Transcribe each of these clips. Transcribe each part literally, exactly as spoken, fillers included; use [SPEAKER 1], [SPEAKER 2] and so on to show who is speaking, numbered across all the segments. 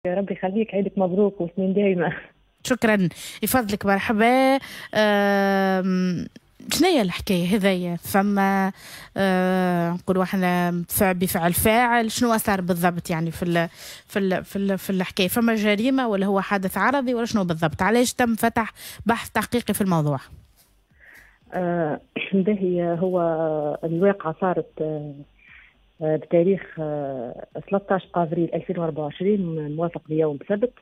[SPEAKER 1] يا ربي يخليك، عيدك مبروك وسنين دايمة.
[SPEAKER 2] شكرا يفضلك، مرحبا. شنو هي الحكاية هذيا؟ فما أه نقولوا احنا بفعل فاعل، شنو صار بالضبط يعني في ال في ال في, ال في الحكاية؟ فما جريمة ولا هو حادث عرضي ولا شنو بالضبط؟ علاش تم فتح بحث تحقيقي في الموضوع؟
[SPEAKER 1] آه باهي، هو الواقعة صارت آه بتاريخ آه ثلاثة عشر افريل ألفين وأربعة وعشرين موافق ليوم سبت.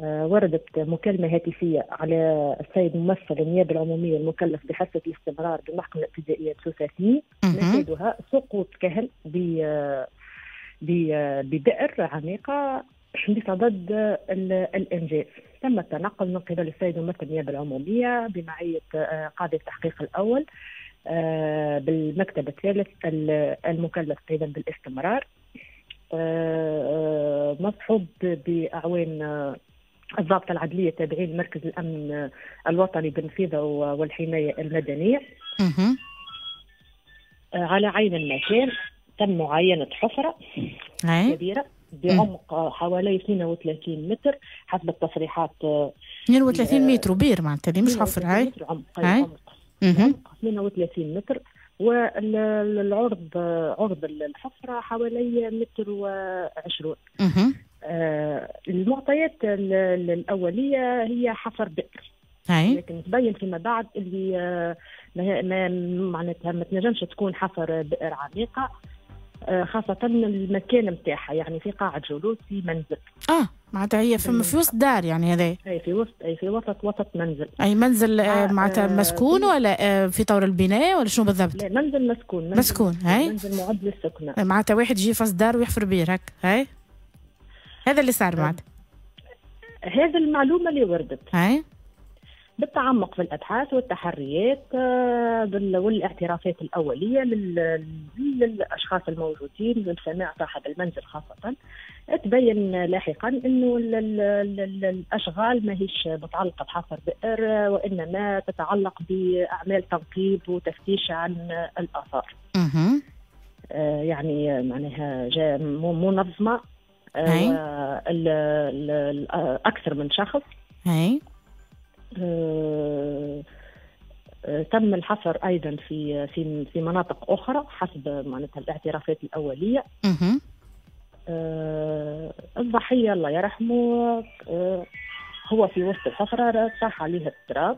[SPEAKER 1] وردت مكالمة هاتفية على السيد ممثل النيابة العمومية المكلف بحصة الاستمرار بالمحكمة الابتدائية بسوسة اثنين، مفادها سقوط كهل ببئر عميقة بصدد الإنجاز. تم التنقل من قبل السيد ممثل النيابة العمومية بمعية قاضي التحقيق الأول بالمكتب الثالث المكلف أيضا بالاستمرار، مصحوب بأعوان الضابطة العدلية تابعين مركز الأمن الوطني بالنفيذة والحماية المدنية. على عين المكان تم معاينة حفرة كبيرة بعمق حوالي اثنين وثلاثين متر حسب التصريحات.
[SPEAKER 2] اثنين وثلاثين متر بير معناتها مش حفرة. هاي
[SPEAKER 1] عمق عمق اثنين وثلاثين متر، والعرض عرض الحفرة حوالي متر وعشرون. آه المعطيات الأولية هي حفر بئر، لكن تبين فيما بعد اللي آه ما معناتها ما تنجمش تكون حفر بئر عميقة، آه خاصة المكان نتاعها يعني في قاعة جلوس في منزل.
[SPEAKER 2] اه معناتها هي في, في وسط دار يعني هذا.
[SPEAKER 1] اي في وسط، اي في وسط وسط منزل.
[SPEAKER 2] اي منزل آه معناتها مسكون ولا آه في طور البناء ولا شنو بالضبط؟
[SPEAKER 1] لا، منزل مسكون. منزل
[SPEAKER 2] مسكون، هاي
[SPEAKER 1] منزل معد للسكنة.
[SPEAKER 2] معناتها واحد يجي في وسط دار ويحفر بير هكا، هاي هذا اللي صار معناتها.
[SPEAKER 1] هذا المعلومة اللي وردت.
[SPEAKER 2] هاي
[SPEAKER 1] بالتعمق في الأبحاث والتحريات والاعترافات الأولية للأشخاص الموجودين لسماع صاحب المنزل خاصة، تبين لاحقا أنه الأشغال ما هيش متعلقة بحفر بئر، وإنما تتعلق بأعمال تنقيب وتفتيش عن الآثار. يعني معناها جاء منظمة أكثر من شخص.
[SPEAKER 2] هاي
[SPEAKER 1] أه تم الحفر ايضا في في في مناطق اخرى حسب معناتها الاعترافات الاولية. أه الضحية الله يرحمه أه هو في وسط الحفرة طاح عليه التراب،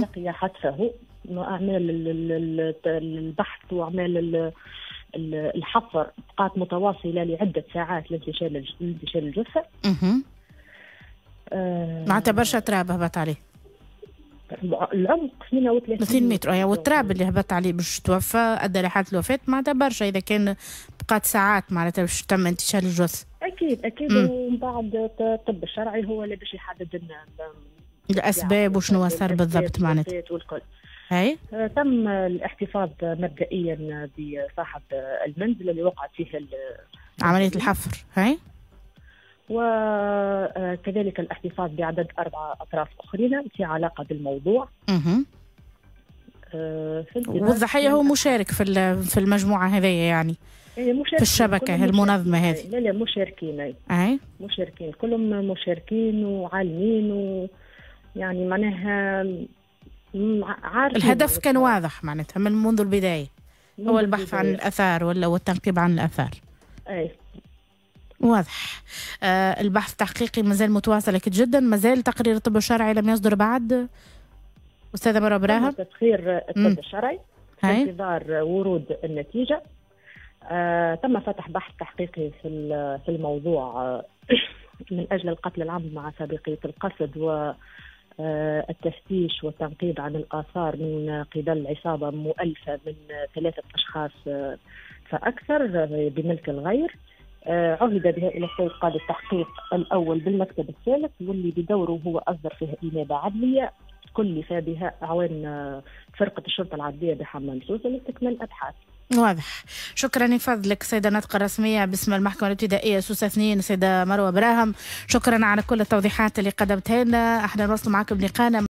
[SPEAKER 1] لقي حتفه. اعمال البحث واعمال الحفر بقات متواصلة لعدة ساعات لانتشال لانتشال الجثة.
[SPEAKER 2] معناتها برشا تراب هبط عليه.
[SPEAKER 1] العمق اثنين وثلاثين
[SPEAKER 2] متر، اي والتراب اللي هبط عليه باش توفى ادى لحاله الوفاة معناتها برشا، اذا كان بقات ساعات معناتها باش تم انتشال الجثة.
[SPEAKER 1] اكيد اكيد. ومن بعد الطب الشرعي هو اللي باش يحدد لنا
[SPEAKER 2] الاسباب وشنو صار بالضبط معناتها.
[SPEAKER 1] والكل.
[SPEAKER 2] هاي
[SPEAKER 1] تم الاحتفاظ مبدئيا بصاحب المنزل اللي وقعت فيه
[SPEAKER 2] عملية الحفر، هاي
[SPEAKER 1] وكذلك الاحتفاظ بعدد أربعة أطراف أخرين في علاقة بالموضوع.
[SPEAKER 2] اها. والضحية هو مشارك في في المجموعة هذه يعني. في الشبكة المنظمة هذه.
[SPEAKER 1] لا لا مشاركين.
[SPEAKER 2] أي
[SPEAKER 1] مشاركين، كلهم مشاركين وعالمين، ويعني معناها عارفين.
[SPEAKER 2] الهدف كان واضح معناتها من منذ البداية، هو البحث عن الآثار ولا والتنقيب عن الآثار.
[SPEAKER 1] أي
[SPEAKER 2] واضح. آه البحث التحقيقي مازال متواصل اكيد جدا، مازال تقرير الطب الشرعي لم يصدر بعد استاذه مروه براهم.
[SPEAKER 1] تسخير الطب الشرعي في انتظار ورود النتيجة. آه تم فتح بحث تحقيقي في في الموضوع آه من اجل القتل العمد مع سابقيه القصد والتفتيش والتنقيب عن الاثار من قبل عصابة مؤلفه من ثلاثة اشخاص فاكثر بملك الغير. عهد بها إلى السيد قاضي التحقيق الأول بالمكتب الثالث، واللي بدوره هو أصدر فيها إنابة عدلية كلف بها أعوان فرقة الشرطة العدلية بحمام سوسة لاستكمال الأبحاث.
[SPEAKER 2] واضح. شكرا لفضلك سيدة الناطقة الرسمية باسم المحكمة الابتدائية سوسة اثنين سيدة مروة براهم، شكرا على كل التوضيحات اللي قدمتها لنا. احنا نواصل معكم لقاءنا.